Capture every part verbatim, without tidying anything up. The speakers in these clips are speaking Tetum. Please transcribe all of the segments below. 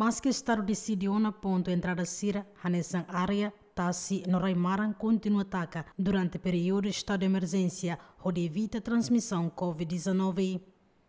Maske estadu deside ona pontu entrada sira, hanesan área, tasi no rai-maran kontinua taka durante períodu estadu de emerjénsia, hodi evita transmisaun covid dezanove.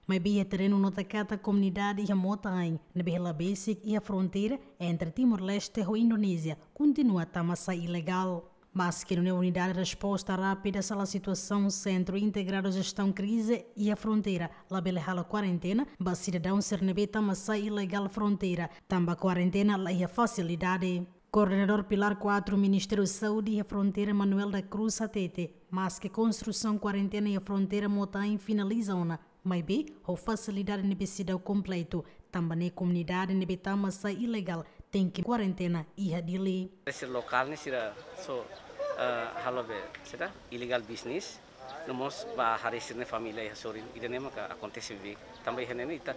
Maibé iha terrenu nota katak komunidade iha mota-ain ne'ebé hela besik iha fronteira entre Timor-Leste ho Indonézia kontinua tama sai ilegál. Maske nune'e unidade resposta rápida sala situasaun Sentru Integradu Jestaun Krize iha fronteira labele halo kuarentena ba sidadaun sira ne'ebé tama sai ilegál fronteira, tanba kuarentena la iha fasilidade. Koordenadór Pilár quatro Ministériu Saúde iha fronteira, Manuel da Cruz, hatete, maske konstrusaun kuarentena iha fronteira mota-ain finaliza ona, maibé ho fasilidade ne'ebé seidauk kompletu, tanba ne'e komunidade ne'ebé tama sai ilegál tenke kuarentena iha Dili. Sira lokál ne'e sira só, eh, halo be, sira ilegál bisnis, no mós ba haree sira-nia família iha sorin, ida-ne'e maka akontese be. Tanba iha ne'e ita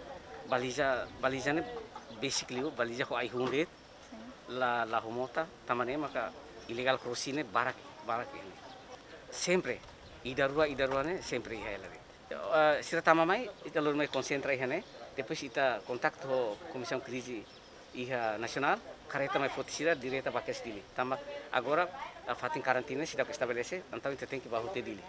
baliza, baliza ne'e besik liu, baliza ho ai-hun de'it, la, la ho mota, tanba ne'e maka ilegál crossing ne'e barak, barak iha ne'e. Sempre, ida rua, ida rua ne'e sempre iha hela de'it. Eh, sira tama mai, ita lori mai konsentra iha ne'e, depois ita kontaktu ho Komisaun Krize iha nasionál, karreta mai foti sira direta ba kedas Dili. Tanba agora, eh, fatin karantina seidauk estabelese, entaun ita tenke ba hotu Dili.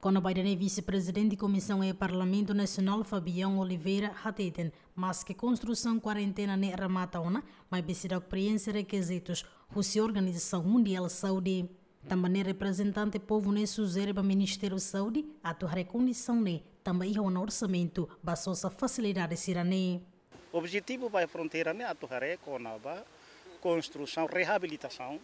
Kona-ba ida-ne'e Vise-Prezidente Komisaun iha Parlamentu Nasionál Fabião Oliveira hateten, maske konstrusaun kuarentena ne'e remata ona, maibé seidauk preenxe rekizitus husi Organizasaun Mundiál Saúde. Tanba ne'e reprezentante povu ne'e sujere ba Ministériu Saúde atu haree kondisaun ne'e, tanba iha ona orsamentu ba sosa fasilidade sira-ne'e. Objetivu ba fronteira ne'e atu haree kona-ba konstrusaun, reabilitasaun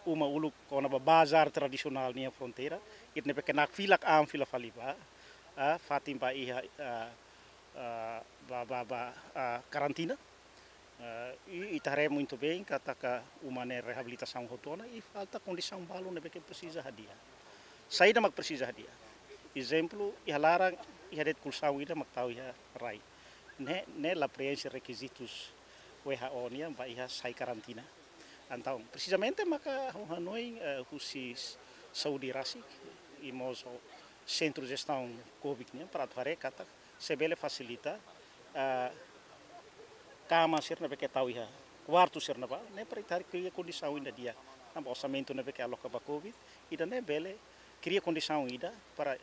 uma uluk kona-ba bazár tradisionál iha fronteira, ida ne'ebé ke nakfilak an fila fali ba, ah, fatin ba iha, ah, ah, ba, ba, ba, ah, karantina. Ah, i, ita haree muitu bein katak uma ne'e reabilitasaun hotu ona i falta kondisaun balu ne'ebé ke presiza hadi'a. Saida mak presiza hadi'a? Ezemplu, iha laran, iha de'it kolxaun ida mak tau iha rai. Ne'e, ne'e la preenxe rekizitus W H O nian ba iha sai karantina. Entaun, presizamente maka ha'u hanoin, eh, husi s-, saúde rasik, i mós ho Sentru Jestaun covid nian, para atu haree katak se bele fasilita, eh, kama sira ne'ebé ke tau iha kuartu sira ne'ebá, ne'e para ita kria kondisaun ida di'ak. Tanba orsamentu ne'ebé ke aloka ba covid, ida-ne'e bele kria kondisaun ida para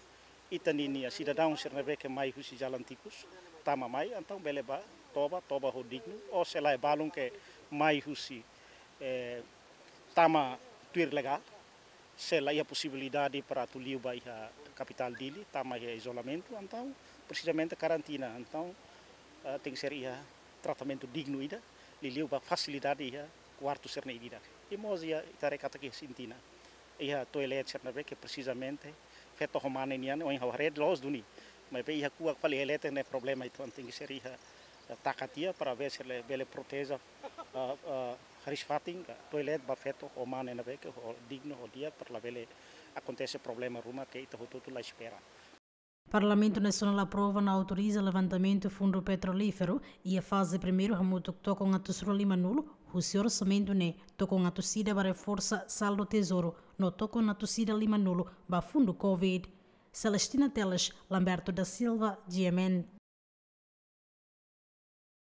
ita ninia sidadaun sira ne'ebé ke mai husi jalan tikus, tama mai, entaun bele ba toba, toba ho dignu, ou se lae balun ke mai husi, eh, tama tuir legál, se la iha posibilidade para atu liu ba iha kapitál Dili, tama iha izolamentu, entaun presizamente karantina, entaun, eh, tenke ser iha tratamentu dignu ida, liuliu ba fasilidade iha kuartu sira-ne'e ida-idak. I mós iha, ita haree katak iha Sintina, iha toilet sira ne'ebé ke presizamente feto ho mane nian, ohin ha'u haree loos duni. Maibé iha kuak fali iha leten ne'e problema, entaun tenke ser iha, eh, taka tiha para ver se bele proteje, eh, eh, hariis-fatin, eh, toilet ba feto ho mane ne'ebé ke ho dignu, ho di'ak, para labele akontese problema ruma ke ita hotu-hotu la espera. Parlamentu Nasionál aprova no autoriza levantamentu fundu petrolíferu iha faze primeiru hamutuk tokon atus rua limanulu, husi orsamentu ne'e tokon atus ida ba reforsa saldu tezouru, no tokon atus ida limanulu ba fundu covid. Celestina Teles, Lamberto da Silva, G M N.